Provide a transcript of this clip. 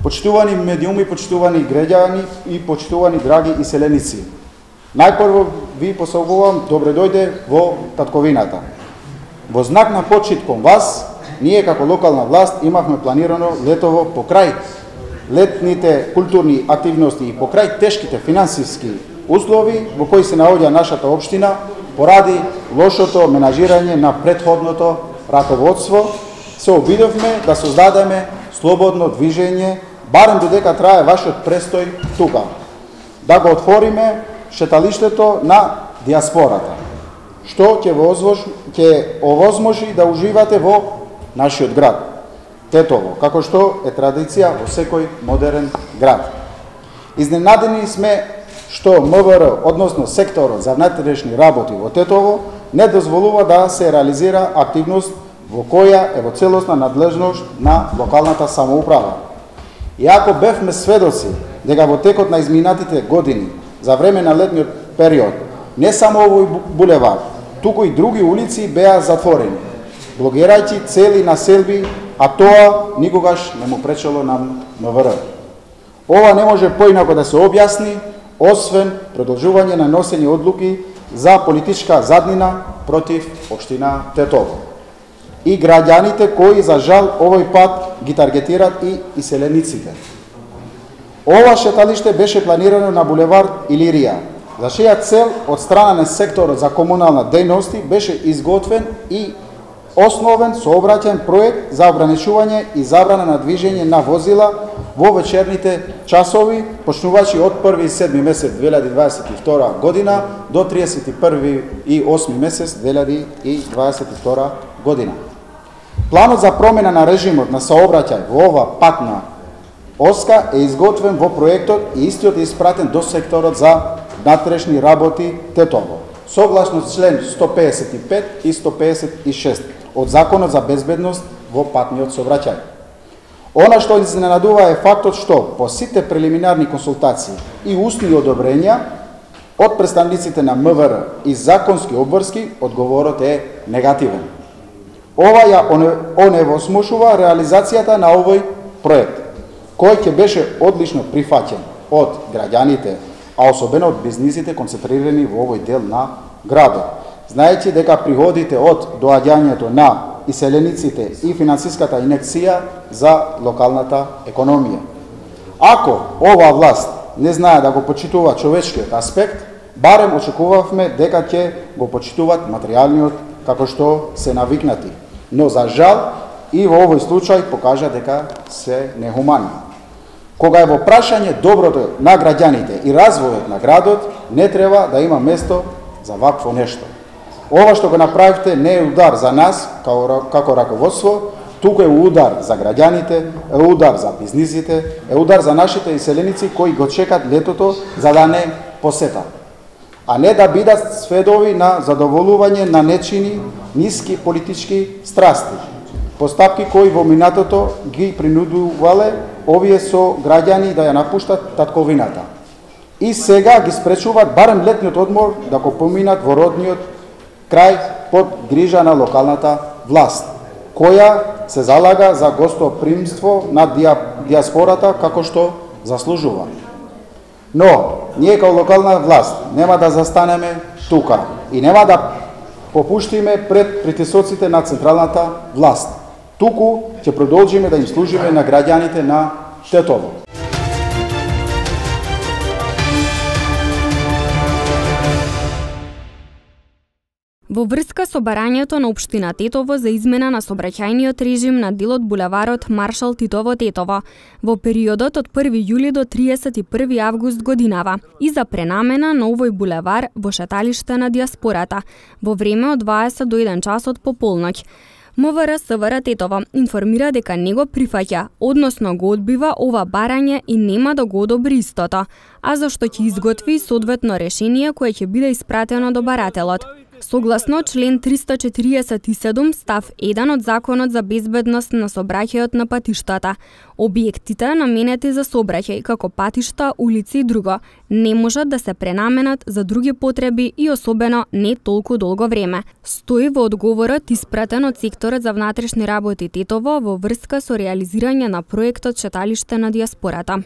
Почитувани медиуми, почитувани граѓани и почитувани драги иселеници. Најпрво ви посаубувам добре дојде во татковината. Во знак на почит кон вас, ние како локална власт имавме планирано летово покрај летните културни активности и покрај тешките финансиски услови во кои се наоѓа нашата општина поради лошото менажирање на претходното раководство, се обидовме да создадеме слободно движење, барем додека трае вашиот престој тука. Да го отвориме шеталиштето на диаспората, што ќе овозможи да уживате во нашиот град, Тетово, како што е традиција во секој модерен град. Изненадени сме што МВР, односно секторот за внатрешни работи во Тетово, не дозволува да се реализира активност во која е во целосна надлежност на локалната самоуправа. Иако бевме сведоци дека во текот на изминатите години, за време на летниот период, не само овој булевар, туку и други улици беа затворени, блокирајќи цели населби, а тоа никогаш не му пречело на МВР. Ова не може поинако да се објасни, освен продолжување на носење одлуки за политичка заднина против општина Тетово. И граѓаните кои, за жал, овој пат ги таргетират и иселениците. Ова шеталиште беше планирано на булевар Илирија, за чија цел од страна на секторот за комунална дејности беше изготвен и основен сообраќаен проект за ограничување и забрана на движење на возила во вечерните часови, почнувачи од 1. месец 2022 година до 31. и 8. месец 2022 година. Планот за промена на режимот на сообраќај во ова патна оска е изготвен во проектот и истиот е испратен до секторот за внатрешни работи Тетово, согласно член 155 и 156 од Законот за безбедност во патниот сообраќај. Она што изненадува е фактот што по сите прелиминарни консултации и устни одобрења од представниците на МВР и законски обврски, одговорот е негативен. Ова ја оневозможува реализацијата на овој проект, кој ќе беше одлично прифаќен од граѓаните, а особено од бизнисите концентрирани во овој дел на градот, знаејќи дека приходите од доаѓањето на иселениците и финансиската инекција за локалната економија. Ако ова власт не знае да го почитува човечкиот аспект, барем очекувавме дека ќе го почитуваат материјалниот како што се навикнати. Но за жал и во овој случај покажа дека се нехумани. Кога е во прашање доброто на граѓаните и развојот на градот, не треба да има место за вакво нешто. Ова што го направивте не е удар за нас како раководство, туку е удар за граѓаните, е удар за бизнисите, е удар за нашите иселеници кои го чекат летото за да не посетат, а не да бидат сведови на задоволување на нечини ниски политички страсти, постапки кои во минатото ги принудувале овие со граѓани да ја напуштат татковината. И сега ги спречуваат барем летниот одмор да го поминат во родниот крај под грижа на локалната власт, која се залага за гостопримство на диаспората како што заслужува. Но, ние као локална власт нема да застанеме тука и нема да попуштиме пред притисоците на централната власт. Туку ќе продолжиме да им служиме на граѓаните на Тетово. Во врска со барањето на општина Тетово за измена на сообраќајниот режим на делот булеварот Маршал Титово Тетово во периодот од 1 јули до 31 август годинава и за пренамена на овој булевар во шеталиште на диаспората во време од 20 до 1 часот по полноќ. МВР СВР Тетово информира дека не го прифаќа, односно го одбива ова барање и нема да го одобри истото, а зашто ќе изготви соодветно решение кое ќе биде испратено до барателот. Согласно член 347 став 1 од Законот за безбедност на сообраќајот на патиштата, објектите наменети за сообраќај како патишта, улици и друго не можат да се пренаменат за други потреби и особено не толку долго време. Стои во одговорот испратен од секторот за внатрешни работи Тетово во врска со реализирање на проектот Шеталиште на дијаспората.